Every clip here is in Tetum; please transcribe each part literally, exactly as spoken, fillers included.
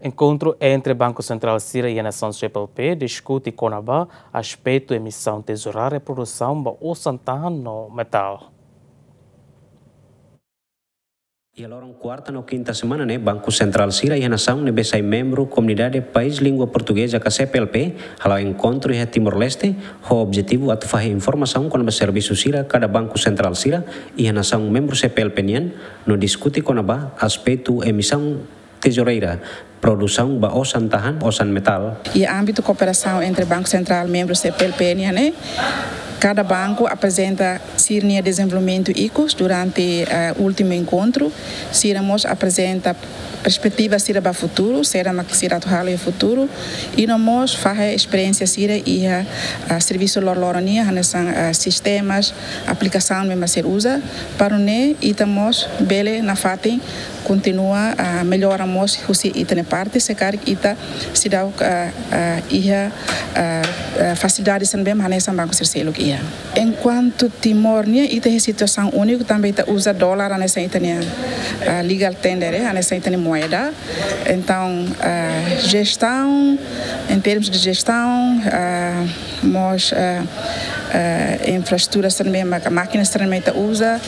Enkontru entre Banku Sentrál sira iha nasaun C P L P diskute kona-ba aspetu emisaun tezourária, produsaun ba osan-tahan no metál. Iha loron kuarta no kinta semana ne'e, Banku Sentrál sira iha nasaun ne'ebé sai membru Komunidade País Língua Portugeza ka C P L P hala'o enkontru iha Timor-Leste, ho objetivu atu fahe informasaun kona-ba servisu sira kada Banku Sentrál sira iha nasaun membru C P L P nian, no diskute kona-ba aspetu emisaun tezourária, produsaun ba osan-tahan, osan-metál. Iha ámbitu kooperasaun entre Banku Sentrál membru C P L P nian ne'e, kada banku aprezenta sira-nia dezenvolvimentu ikus durante, eh, últimu enkontru. Sira mós aprezenta perspetiva sira ba futuru, saida mak sira atu halo iha futuru, i no mós fahe esperiénsia sira iha, ah, servisu loroloron nian, hanesan, ah, sistemas, aplikasaun ne'ebé mak sira uza, para nune'e ita mós bele nafatin kontinua, ah, mellora mós husi ita-nia parte, se karik ita seidauk, ah, ah, iha, ah, ah, fasilidade sira ne'ebé hanesan banku sira seluk iha. Enkuantu Timor nian, ita iha situasaun úniku, tanba ita uza dolar hanesan ita-nia, ah, legal tender, eh, hanesan ita-nia moeda. Entaun, ah, jestaun, em termos de jestaun, ah, mós, ah, ah, infraestrutura sira ne'ebé mak, mákina sira ne'ebé ita uza,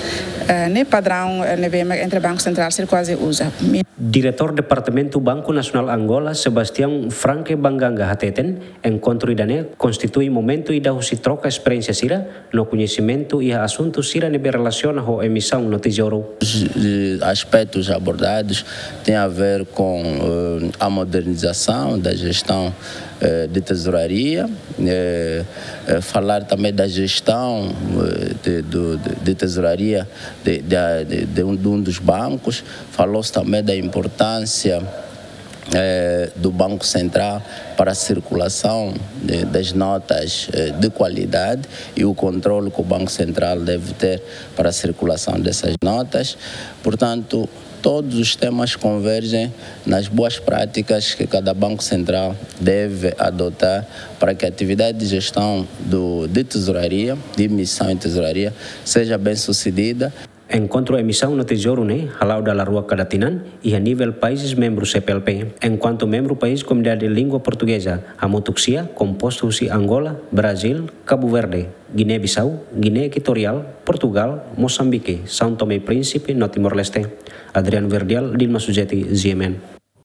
ah, ne'e padraun, ah, ne'ebé mak entre Banku Sentrál sira kuaze uza. Mi- Diretór Departamentu Banku Nasionál Angola, Sebastião Franque Banganga, hateten, enkontru ida-ne'e konstitui momentu ida husi troka esperiénsia sira no koñesimentu iha asuntu sira ne'ebé relasiona ho emisaun no tezouru. Os, eh, aspectos abordados têm a ver com, eh, a modernização da gestão, eh, de tesouraria, eh, eh, falar também da gestão, eh, de, do, de, de tesouraria de, de, de, de um, de um dos bancos. Falou-se também da importância, eh, do Banco Central para a circulação de, das notas, eh, de qualidade e o controle que o Banco Central deve ter para a circulação dessas notas. Portanto, todos os temas convergem nas boas práticas que cada Banco Central deve adotar para que a atividade de gestão do, de tesouraria, de emissão em tesouraria, seja bem sucedida. Enkontru emisaun no tezouru ne'e hala'o dala rua kada tinan iha nivel países membru C P L P, enkuantu membru país Komunidade Língua Portugeza hamutuk sia kompostu husi Angola, Brazil, Cabo Verde, Guiné-Bissau, Guiné Equatorial, Portugal, Moçambique, São Tomé e Príncipe no Timor-Leste. Adriano Verdial, Dilma Suzeti, G M N.